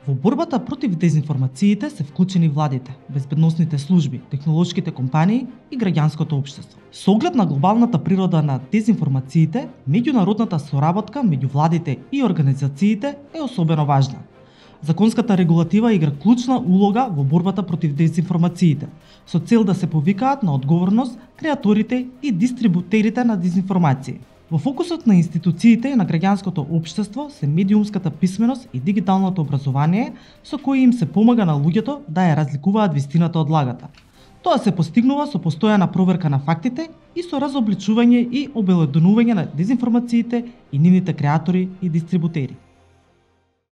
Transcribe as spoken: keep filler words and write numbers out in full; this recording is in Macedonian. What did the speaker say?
Во борбата против дезинформациите се вклучени владите, безбедносните служби, технолошките компании и граѓанското општество. Со оглед на глобалната природа на дезинформациите, меѓународната соработка меѓу владите и организациите е особено важна. Законската регулатива игра клучна улога во борбата против дезинформациите, со цел да се повикаат на одговорност креаторите и дистрибутерите на дезинформации. Во фокусот на институциите и на граѓанското општество се медиумската писменост и дигиталното образование, со кои им се помага на луѓето да ја разликуваат вистината од лагата. Тоа се постигнува со постојана проверка на фактите и со разобличување и обелоденување на дезинформациите и нивните креатори и дистрибутери.